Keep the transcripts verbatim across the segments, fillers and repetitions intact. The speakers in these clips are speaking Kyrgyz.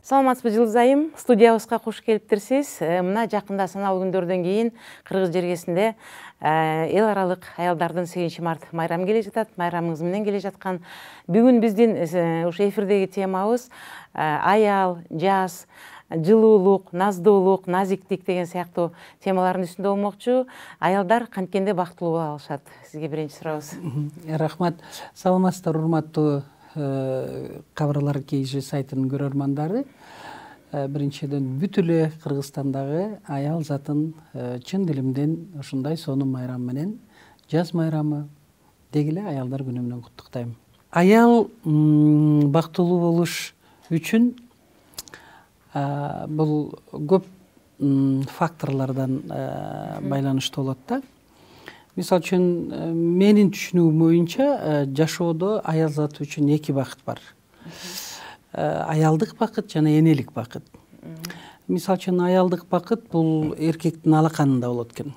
Саламатсызбы Жылдыз айым, студиябызга кош келиптирсиз. Мына жакында саналуу күндөрдөн кийин Кыргыз жергесинде эл аралык аялдардын сегизинчи март майрамы келе жатат. Майрамыңыз менен келе жаткан бүгүн биздин ушу эфирдеги темабыз аял, жаз, жылуулук, наздуулук, назиктик деген сыяктуу темалардын үстүндө болмокчу. Аялдар канткенде бактылуу боло алышат? Сизге биринчи сурообуз. Рахмат. Саламатсыздар, урматтуу кабарлар kg сайтынын көрөрмандары. Биринчиден бүт эле Кыргызстандагы аял затын чын дилимден ушундай сонун майрам менен, жаз майрамы деги эле аялдар күнү менен куттуктайм. Аял бактылуу болуш үчүн бул көп факторлордон байланыштуу болот да. Мисалы үчүн менин түшүнүгүм боюнча жашоодо аял заты үчүн эки бакыт бар. Аялдык бакыт жана энелик бакыт. Мисалы үчүн аялдык бакыт бул эркектин алаканында болот экен.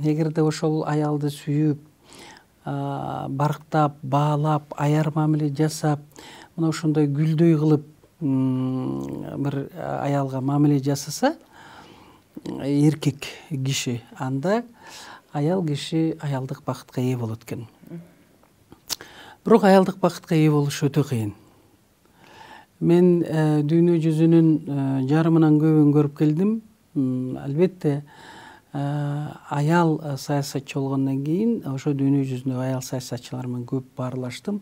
Эгерде ошол аялды сүйүп, барктап, баалап, аяр мамиле жасап, мына ошондой гүлдөй кылып бир аялга мамиле жасаса эркек киши, анда аял киши аялдык бакытка ээ болот экен. Бирок аялдык бакытка ээ болуш өтө кыйын. Мен дүйнө жүзүнүн жарымынан көбүн көрүп келдим. Албетте аял саясатчы болгондон кийин ошо дүйнө жүзүндөгү аял саясатчылар менен көп баарлаштым.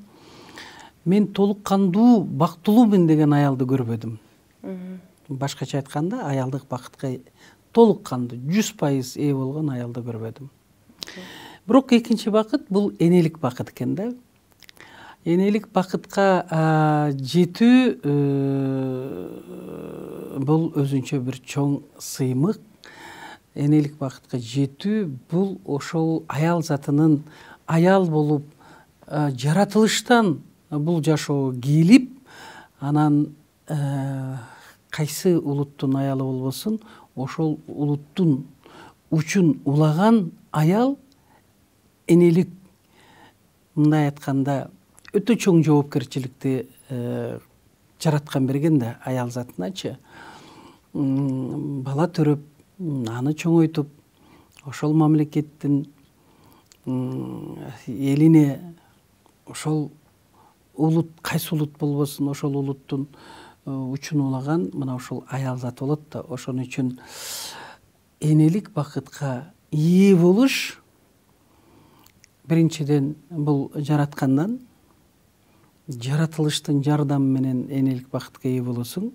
Мен толук кандуу бактылуумун деген аялды көрбөдүм. Башкача айтканда, аялдык бакытка толук кандуу жүз пайыз ээ болгон аялды көрбөдүм. Бирок экинчи бакыт бул энелик бакыт экен да. Энелик бакытка жетүү бул өзүнчө бир чоң сыймык. Энелик бакытка жетүү бул ошол аял затынын аял болуп жаратылыштан бул жашоого кийлип, анан кайсы улуттун аялы болбосун, ошол улуттун учун улаган аял энелик, мындай айтканда, өтө чоң жоопкерчиликти жараткан берген да аял затыначы. Бала төрөп, аны чоңойтуп, ошол мамлекеттин элине ошол улут, кайсы улут болбосун, ошол улуттун учун улаган мына ошол аял заты болот да. Ошон үчүн энелик бакытка ээ болуш биринчиден бул жараткандан, жаратылыштын жардамы менен энелик бакытка ээ болосуң.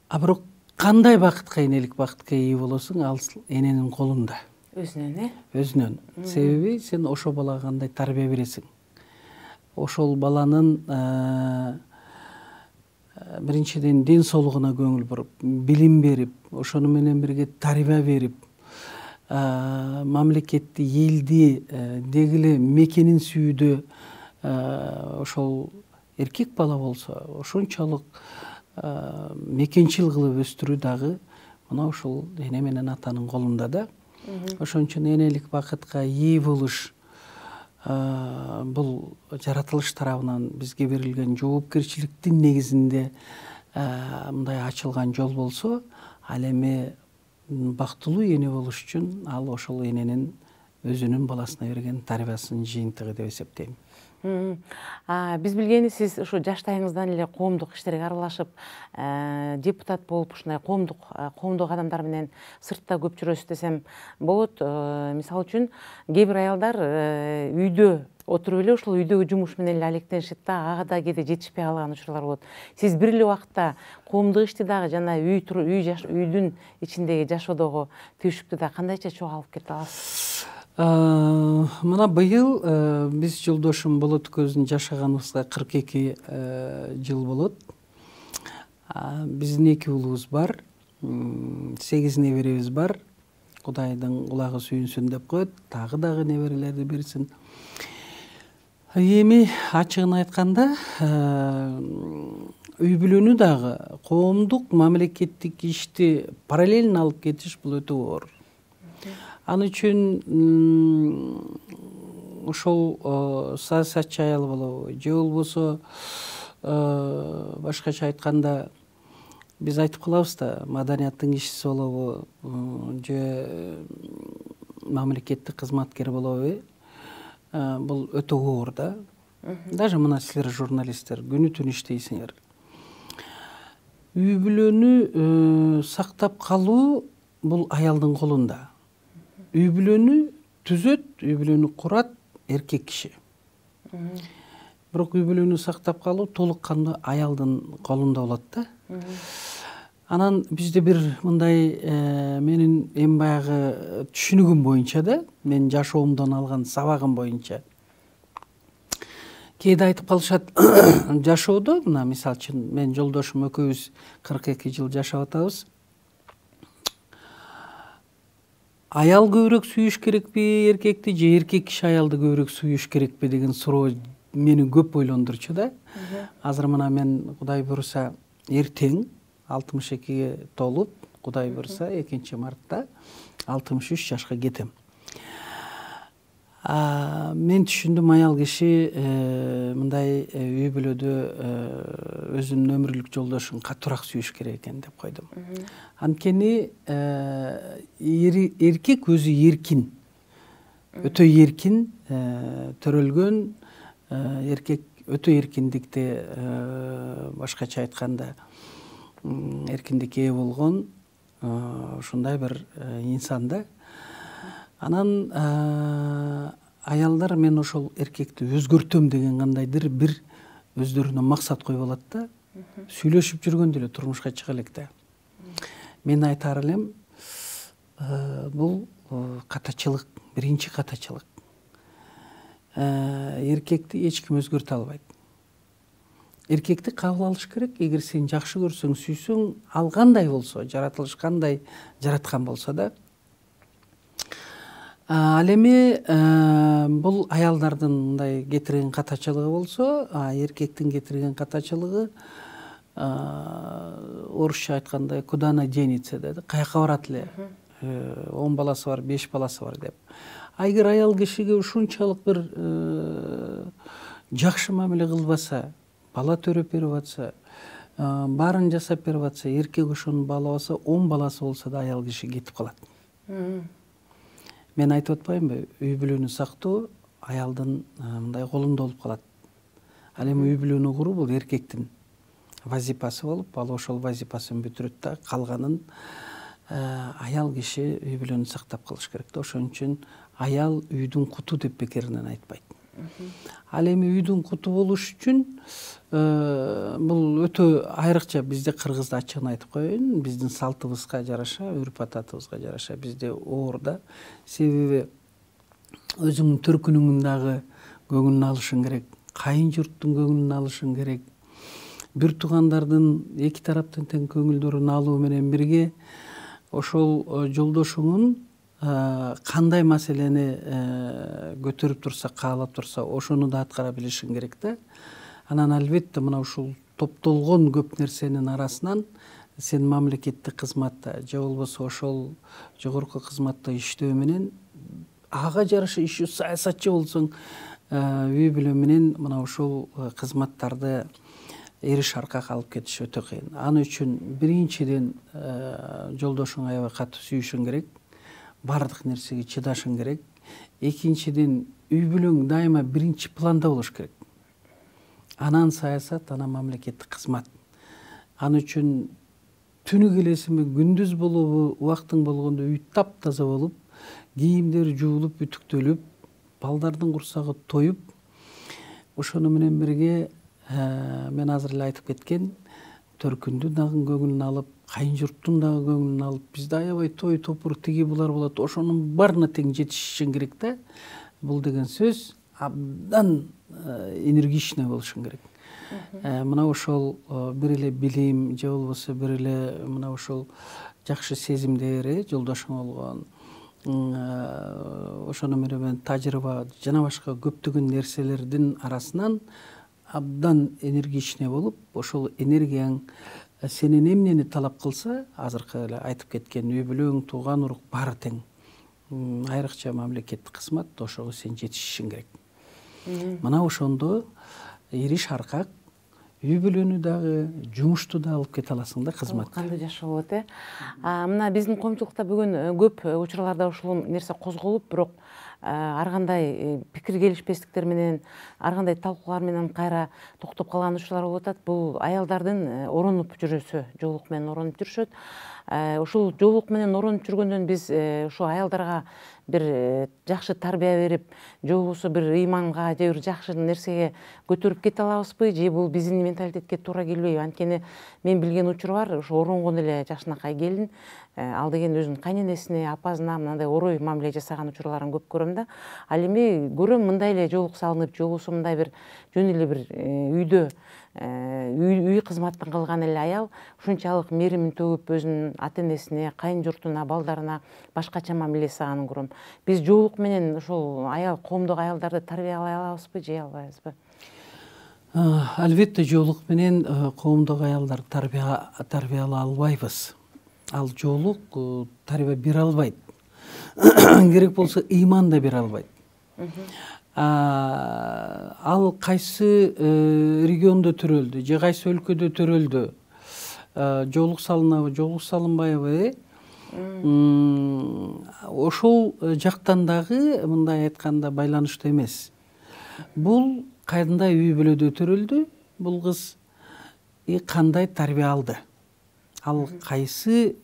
А бирок кандай бакытка, энелик бакытка ээ болосуң, ал эненин колунда. Өзүнөн, э? Өзүнөн. Себеби сен ошол балага кандай тарбия бересиң. Ошол баланын биринчиден ден соолугуна көңүл буруп, билим берип, ошону менен бирге тарбия берип, мамлекетти, элди, деги эле мекенин сүйүүдө ошол эркек бала болсо, ошончолук мекенчил кылып өстүрүү дагы мына ошол эне менен атанын колунда да. Ошон үчүн энелик бакытка ээ болуш бул жаратылыш тарабынан бизге берилген жоопкерчиликтин негизинде мындай ачылган жол болсо, ал эми бактылуу эне болуш үчүн ал ошол эненин өзүнүн баласына берген тарбиясынын жыйынтыгы деп эсептейм. Биз билгени сиз ушу жаштайыңыздан эле коомдук иштерге аралашып, депутат болуп, ушундай коомдук коомдук адамдар менен сыртта көп жүрөсүз десем болот. Мисалы үчүн, кээ бир аялдар үйдө отуруп эле ушул үйдөгү жумуш менен эле алектенишет да, ага да кээде жетишпей калган учурлар болот. Сиз бир эле убакта коомдук ишти дагы жана үй үйдүн ичиндеги жашоодогу түйшүктү да кандайча чогуу алып кете аласыз? Мына быйыл биз жолдошум Болот Көздүн жашаганыбызга кырк эки жыл болот. Биздин эки уулубуз бар, сегиз неберебиз бар. Кудайдын кулагы сүйүнсүн деп коет, дагы дагы неберелерди берсин. Эми ачыгын айтканда, үй бүлөнү дагы коомдук, мамлекеттик ишти параллельно алып кетиш бул өтө оор. Ал үчүн ошол саясатчы аял болобу, же болбосо башкача айтканда биз айтып калабыз да, маданияттын кишиси болобу же мамлекеттик кызматкер болобу, бул өтө оор да. Даже мына силер журналисттер күнү түн иштейсиңер. Үй бүлөнү сактап калуу бул аялдын колунда. Үй бүлөнү түзөт, үй бүлөнү курат эркек киши. Бирок үй бүлөнү сактап калуу толук кандуу аялдын колунда болот да. Анан бизде бир мындай менин эми баягы түшүнүгүм боюнча да, мен жашоомдон алган сабагым боюнча кээде айтып калышат, жашоодо мына мисалы үчүн мен жолдошум экөөбүз кырк эки жыл жашап атабыз. Аял көбүрөөк сүйүш керекпи эркекти же эркек киши аялды көбүрөөк сүйүш керекпи деген суроо мени көп ойлондурчу да. Азыр мына мен Кудай буйруса эртең алтымыш экиге толуп, Кудай буйруса экинчи мартта алтымыш үч жашка кетем. Мен түшүндүм, аял киши мындай үй бүлөдө өзүнүн өмүрлүк жолдошун катуураак сүйүш керек экен деп койдум. Анткени эркек өзү эркин, өтө эркин, төрөлгөн эркек, өтө эркиндикте, башкача айтканда эркиндикке ээ болгон ушундай бир инсан да. Анан аялдар мен ошол эркекти өзгөртөм деген кандайдыр бир өздөрүнө максат коюп алат да. Сүйлөшүп жүргөндө эле турмушка чыга элек да. Мен айтар элем, бул катачылык, биринчи катачылык. Эркекти эч ким өзгөртө албайт. Эркекти кабыл алыш керек. Эгер сен жакшы көрсөң, сүйсөң, ал кандай болсо, жаратылыш кандай жараткан болсо да. Ал эми бул аялдардын мындай кетирген катачылыгы болсо, эркектин кетирген катачылыгы орусча айтканда куда она денется деди, каяка барат эле, он баласы бар, беш баласы бар деп. А эгер аял кишиге ушунчалык бир жакшы мамиле кылбаса, бала төрөп берип атса, баарын жасап берип атса, эркек ошону баалабаса, он баласы болсо да аял киши кетип калат. Мен айтып атпаймынбы, үй бүлөнү сактоо аялдын мындай колунда болуп калат. Ал эми үй бүлөнү куруу бул эркектин вазипасы болуп, ал ошол вазипасын бүтүрөт да, калганын аял киши үй бүлөнү сактап калыш керек да. Ошон үчүн аял үйдүн куту деп бекеринен айтпайт. Ал эми үйдүн куту болуш үчүн бул өтө айрыкча, бизде кыргызда ачыгын айтып коеюн, биздин салтыбызга жараша, үрп адатыбызга жараша бизде оор да. Себеби өзүңдүн төркүнүңдүн дагы көңүлүн алышың керек, кайын журттун көңүлүн алышың керек. Бир туугандардын эки тараптын тең көңүлдөрүн алуу менен бирге ошол жолдошуңун кандай маселени көтөрүп турса, каалап турса, ошону да аткара билишиң керек да. Анан албетте мына ушул топтолгон көп нерсенин арасынан сен мамлекеттик кызматта же болбосо ошол жогорку кызматта иштөө менен ага жараша иши саясатчы болсоң, үй бүлө менен мына ушул кызматтарды эриш аркак алып кетиш өтө кыйын. Аны үчүн биринчиден жолдошуң аябай катуу сүйүшүң керек, баардык нерсеге чыдашың керек. Экинчиден үй бүлөң дайыма биринчи планда болуш керек. Анан саясат, анан мамлекеттик кызмат. Аны үчүн түнү келесиңби, күндүз болобу, убактың болгондо үй таптаза болуп, кийимдер жуулуп, үтүктөлүп, балдардын курсагы тоюп, ошону менен бирге мен азыр эле айтып кеткен төркүндүн дагы көңүлүн алып, кайын журттун дагы көңүлүн алып, бизде аябай той топур тиги булар болот, ошонун баарына тең жетишишиң керек да. Бул деген сөз абдан энергичный болушуң керек. Мына ошол бир эле билим же болбосо бир эле мына ошол жакшы сезимдер, жолдошуң болгон, ошону менен тажрыйба жана башка көптөгөн нерселердин арасынан абдан энергичный болуп, ошол энергияң сенен эмнени талап кылса, азыркы эле айтып кеткен үй бүлөң, тууган урук баары тең. Айрыкча мамлекеттик кызмат, ошого сен жетишишиң керек. Мына ошондо эриш аркак үй бүлөнү дагы, жумушту да алып кете аласың да кызмат. Кандуу жашоо болот э. Мына биздин коомчулукта бүгүн көп учурларда ушул нерсе козголуп, бирок ар кандай пикир келишпестиктер менен, ар кандай талкуулар менен кайра токтоп калган учурлар болуп атат. Бул аялдардын оронуп жүрүүсү, жоолук менен оронуп жүрүшөт. Ушул жоолук менен оронуп жүргөндөн биз ушу аялдарга бир жакшы тарбия берип, же болбосо бир ыйманга, же бир жакшы нерсеге көтөрүп кете алабызбы, же бул биздин менталитетке туура келбейби? Анткени мен билген учур бар, ушу оронгон эле жакшынакай келин, ал деген өзүнүн кайненесине, апасына мындай орой мамиле жасаган учурларын көп көрөм да. Ал эми көрөм мындай эле жоолук салынып, же болбосо мындай бир жөн эле бир үйдө үй кызматын кылган эле аял ушунчалык мээримин төгүп өзүнүн ата энесине, кайын журтуна, балдарына башкача мамиле жасаганын көрөм. Биз жоолук менен ушул аял, коомдогу аялдарды тарбиялай алабызбы, же албайбызбы? Албетте жоолук менен коомдогу аялдарды тарбиялай албайбыз. Ал жоолук тарбия бере албайт. Керек болсо ыйман да бере албайт. Ал кайсы региондо төрөлдү, же кайсы өлкөдө төрөлдү, жоолук салынабы, жоолук салынбайбы, ошол жактан дагы мындай айтканда байланыштуу эмес. Бул кайдандай үй бүлөдө төрөлдү, бул кыз кандай тарбия алды, ал кайсы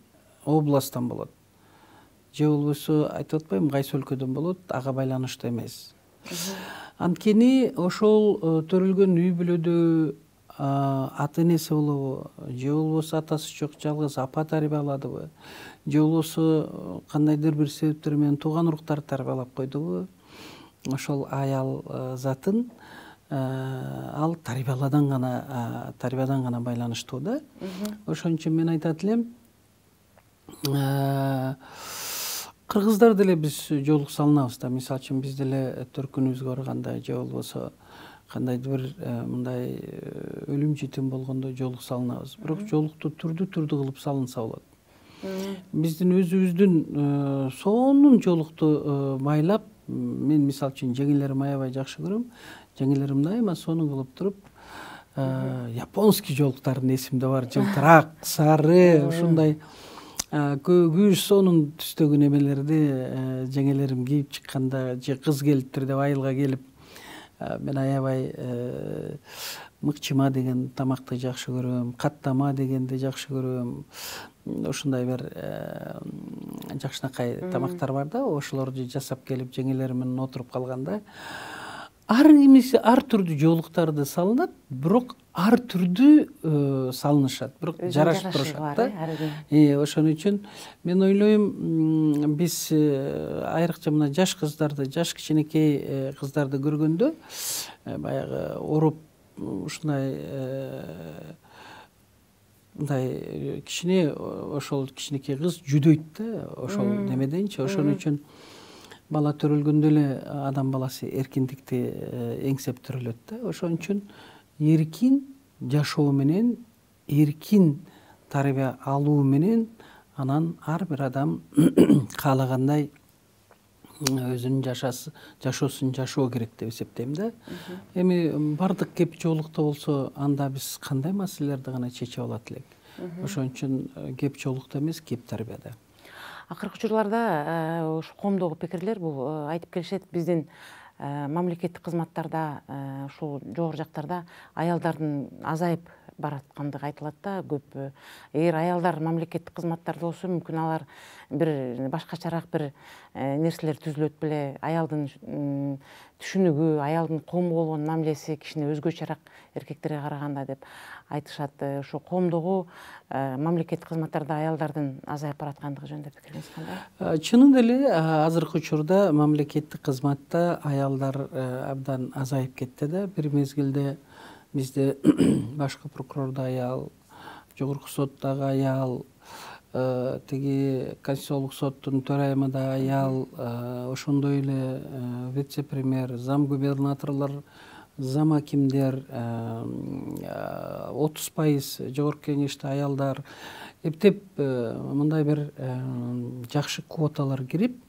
областтан болот, же болбосо айтып атпайбы, кайсы өлкөдөн болот, ага байланыштуу эмес. Анткени ошол төрөлгөн үй бүлөдө ата энеси болобу, же болбосо атасы жок жалгыз апа тарбияладыбы, же болбосо кандайдыр бир себептер менен тууган уруктар тарбиялап койдубу, ошол аял затын ал тарбияладан гана тарбиядан гана байланыштуу да. Ошон үчүн мен айтат элем, кыргыздар деле биз жоолук салынабыз да. Мисалы үчүн биз деле төркүнүбүзгө барганда, же болбосо кандайдыр бир мындай өлүм житим болгондо жоолук салынабыз. Бирок жоолукту түрдүү-түрдүү кылып салынса болот. Биздин өзүбүздүн сонун жоолукту байлап, мен мисалы үчүн жеңелеримди аябай жакшы көрөм. Жеңелерим дайыма сонун кылып туруп, японский жоолуктардын эсимде бар, жылтырак, сары, ушундай күз сонун түстөгү немелерди жеңелерим кийип чыкканда, же кыз келиптир деп айылга келип, мен аябай мыкчыма деген тамакты жакшы көрөм, каттама дегенди жакшы көрөм. Ушундай бир жакшынакай тамактар бар да, ошолорду жасап келип жеңелерим менен отуруп калганда, ар кимиси ар түрдүү жоолуктарды салынат, бирок ар түрдүү салынышат, бирок жарашып турушат да. Ошон үчүн мен ойлойм, биз айрыкча мына жаш кыздарды, жаш кичинекей кыздарды көргөндө, баягы ороп ушундай мындай кичине, ошол кичинекей кыз жүдөйт да, ошол немеденчи. Ошон үчүн бала төрөлгөндө эле адам баласы эркиндикти эңсеп төрөлөт да. Ошон үчүн эркин жашоо менен, эркин тарбия алуу менен, анан ар бир адам каалагандай өзүнүн жашоосун жашоо керек деп эсептейм да. Эми бардык кеп жоолукта болсо, анда биз кандай маселелерди гана чечип алат элек. Ошон үчүн кеп жоолукта эмес, кеп тарбияда. Акыркы учурларда ушу коомдогу пикирлер бул айтып келишет, биздин мамлекеттик кызматтарда, ушул жогору жактарда аялдардын азайып бараткандыгы айтылат да көп. Эгер аялдар мамлекеттик кызматтарда болсо, мүмкүн алар бир башкачараак бир нерселер түзүлөт беле, аялдын түшүнүгү, аялдын коомго болгон мамилеси кичине өзгөчөрөөк эркектерге караганда деп айтышат. Ошо коомдогу мамлекеттик кызматтарда аялдардын азайып бараткандыгы жөнүндө пикириңиз кандай? Чынында эле азыркы учурда мамлекеттик кызматта аялдар абдан азайып кетти да. Бир мезгилде бизде башкы прокурордо аял, жогорку соттогу аял, тиги Конституциялык соттун төрайымы да аял, ошондой эле вице-премьер, зам губернаторлор, зам акимдер, отуз пайыз жогорку кеңеште аялдар. Эптеп мындай бир жакшы квоталар кирип,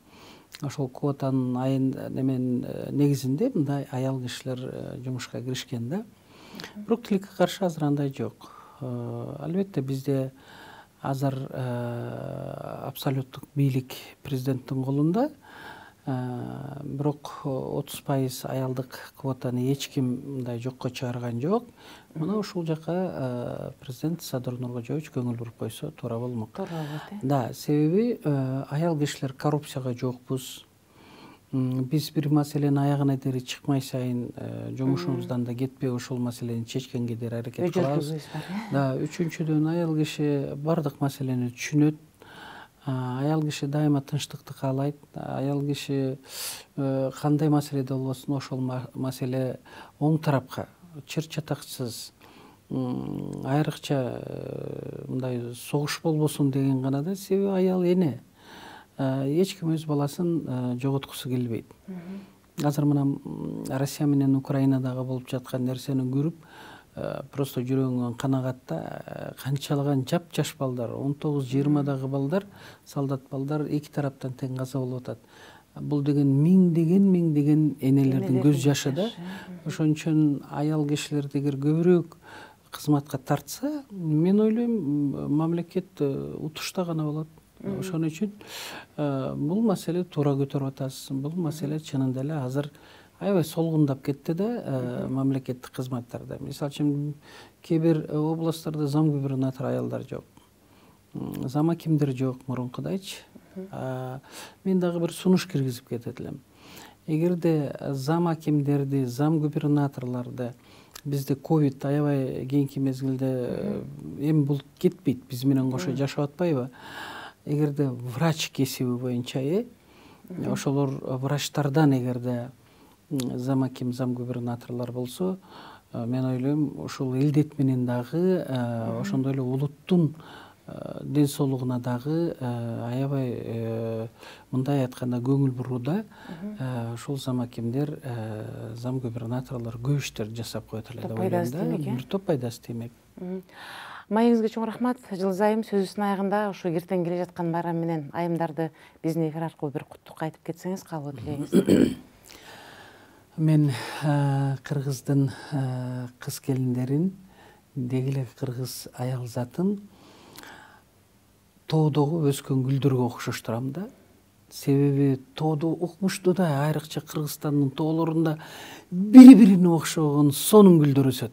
ошол квотанын айын немен негизинде мындай аял кишилер жумушка киришкен да. бирок тилекке каршы азыр андай жок. Албетте бизде азыр абсолюттук бийлик президенттин колунда, бирок отуз пайыз аялдык квотаны эч ким мындай жокко чыгарган жок. Мына ушул жака президент Садыр Нуркожоевич көңүл буруп койсо туура болмок. Туура болот, э? Да, себеби аял кишилер коррупцияга жокпуз. Биз бир маселени аягына дери чыкмай сайын жумушубуздан да кетпей ошол маселени чечкенге дери аракет кылабыз. Да, үчүнчүдөн аял киши бардык маселени түшүнөт. Аял киши дайыма тынчтыкты каалайт. Аял киши кандай маселеде болбосун ошол маселе оң тарапка чыр чатаксыз, айрыкча мындай согуш болбосун деген гана да. Себеби аял эне. Эч ким өз баласын жоготкусу келбейт. Азыр мына Россия менен Украинадагы болуп жаткан нерсени көрүп, просто жүрөгүңөн канагатта канчалаган жап-жаш балдар, он тогуз жыйырмадагы балдар, солдат балдар эки тараптан тең каза болуп атат. Бул деген миңдеген миңдеген энелердин көз жашы да. Ошон үчүн аял кишилерди эгер көбүрөөк кызматка тартса, мен ойлойм, мамлекет утушта гана болот. Ошон үчүн бул маселе туура көтөрүп атасыз. Бул маселе чынында эле азыр аябай солгундап кетти да мамлекеттик кызматтарда. Мисалы үчүн кээ бир областтарда зам губернатор аялдар жок. Зам акимдер жок мурункудайчы. Мен дагы бир сунуш киргизип кетет элем. Эгерде зам акимдерди, зам губернаторлорду бизде ковид аябай кийинки мезгилде эми бул кетпейт, биз менен кошо жашап атпайбы? Эгерде врач кесиби боюнча э ошолор врачтардан эгерде зам аким, зам губернаторлор болсо, мен ойлойм, ушул элдет менен дагы ошондой эле улуттун ден соолугуна дагы аябай мындай айтканда көңүл бурууда ушул зам акимдер, зам губернаторлор көп иштер жасап коет эле деп ойлойм да. Бир топ пайдасы тиймек. Маегиңизге чоң рахмат. Жылдыз айым, сөзүбүздүн аягында ушу эртең келе жаткан байрам менен айымдарды биздин эфир аркылуу бир куттукка айтып кетсеңиз, кабыл тилегиңиз. Мен кыргыздын кыз келиндерин, деги эле кыргыз аял затын тоодогу өскөн гүлдөргө окшоштурам да. Себеби тоодо укмуштуу да, айрыкча Кыргызстандын тоолорунда бири-бирине окшогон сонун гүлдөр өсөт.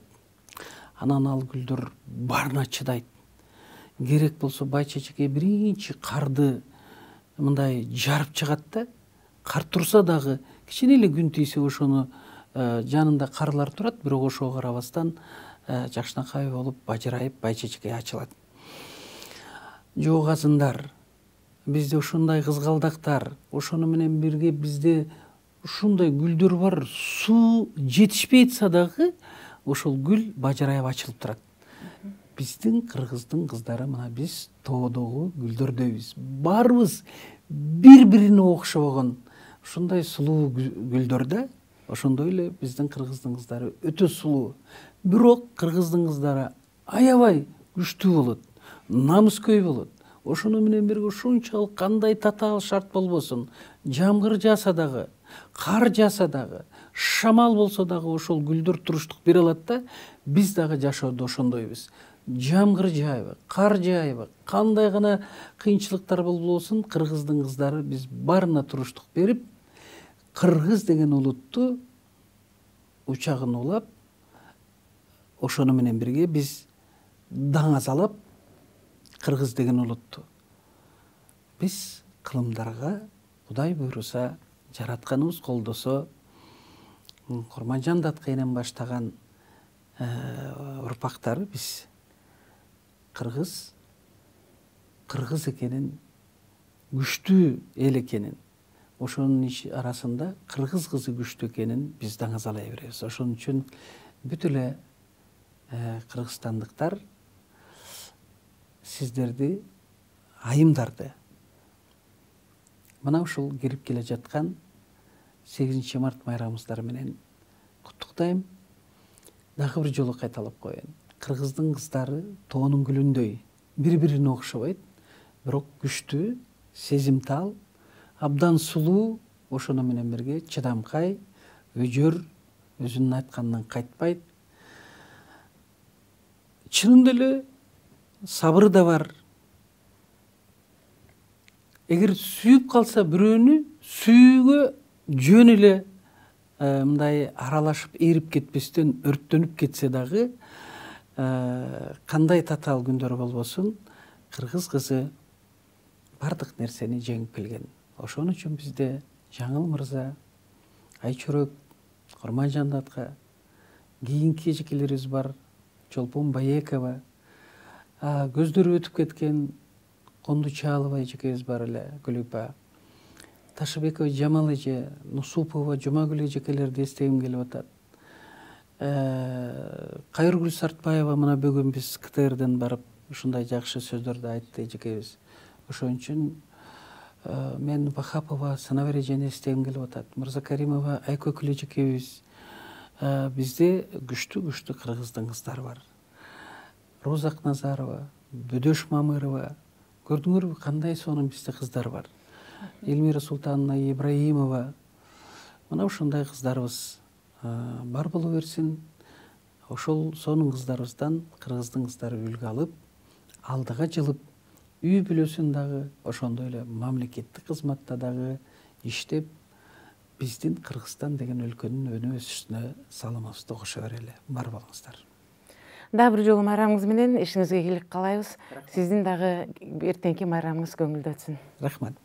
Анан ал гүлдөр баарына чыдайт. Керек болсо бай чечекей биринчи карды мындай жарып чыгат да, кар турса дагы кичине эле күн тийсе ошону жанында карлар турат, бирок ошого карабастан жакшынакай болуп бажырайып бай чечекей ачылат. Жок азындар, бизде ушундай кызгалдактар, ошону менен бирге бизде ушундай гүлдөр бар, суу жетишпей атса дагы ошол гүл бажырайып ачылып турат. Биздин кыргыздын кыздары мына биз тоодогу гүлдөрдөйбүз. Баарыбыз бири-бирине окшогон ушундай сулуу гүлдөр да. Ошондой эле биздин кыргыздын кыздары өтө сулуу. Бирок кыргыздын кыздары аябай күчтүү болот, намыскөй болот. Ошону менен бирге ушунчалык кандай татаал шарт болбосун, жамгыр жааса дагы, кар жааса дагы, шамал болсо дагы ошол гүлдөр туруштук бере алат да. Биз дагы жашоодо ошондойбуз. Жамгыр жаайбы, кар жаайбы, кандай гана кыйынчылыктар болбосун, кыргыздын кыздары биз баарына туруштук берип, кыргыз деген улутту учагын улап, ошону менен бирге биз даңазалап кыргыз деген улутту биз кылымдарга Кудай буйруса, жаратканыбыз колдосо, Курманжан Даткайнен баштаган урпактары биз кыргыз кыргыз экенин, күчтүү эл экенин, ошонун арасында кыргыз кызы күчтүү экенин биз даңазалай беребиз. Ошон үчүн бүт эле кыргызстандыктар сиздерди, айымдарды мына ушул кирип келе жаткан сегизинчи март майрамыңыздар менен куттуктайм. Дагы бир жолу кайталап коеюн. Кыргыздын кыздары тоонун гүлүндөй бири-бирине окшобойт, бирок күчтүү, сезимтал, абдан сулуу, ошону менен бирге чыдамкай, өжөр, өзүнүн айтканынан кайтпайт. чынында эле сабыры да бар. Эгер сүйүп калса бирөөнү, сүйүүгө жөн эле мындай аралашып эрип кетпестен өрттөнүп кетсе дагы, кандай татаал күндөр болбосун, кыргыз кызы бардык нерсени жеңип келген. Ошон үчүн бизде Жаңыл мырза, Айчөрөк, Курманжан атка, кийинки эжекелерибиз бар, Чолпон Баекова, көздөрү өтүп кеткен Кондучалова эжекебиз бар эле, Гүлүпа, Ташыбекова Жамал эже, Нусупова Жумагүл эжекелерди эстегим келип атат. Кайыргүл Сартбаева мына бүгүн биз КТРден барып ушундай жакшы сөздөрдү айтты эжекебиз. Ошон үчүн мен Бахапова Санабер эжени эстегим келип атат. Мырзакаримова Айкөкүл эжекебиз. Бизде күчтүү-күчтүү кыргыздын кыздары бар. Роза Акназарова, Бөдөш Мамырова, көрдүңөрбү кандай сонун бизде кыздар бар. Элмира Султановна Ибраимова. Мына ушундай кыздарыбыз бар боло берсин. Ошол сонун кыздарыбыздан кыргыздын кыздары үлгү алып, алдыга жылып, үй бүлөсүн дагы ошондой эле мамлекеттик кызматта дагы иштеп, биздин Кыргызстан деген өлкөнүн өнүп өсүшүнө салымыбызды кошо берели. Бар болуңуздар. Дагы бир жолу майрамыңыз менен ишиңизге ийгилик каалайбыз. Сиздин дагы эртеңки майрамыңыз көңүлдүү өтсүн. Рахмат.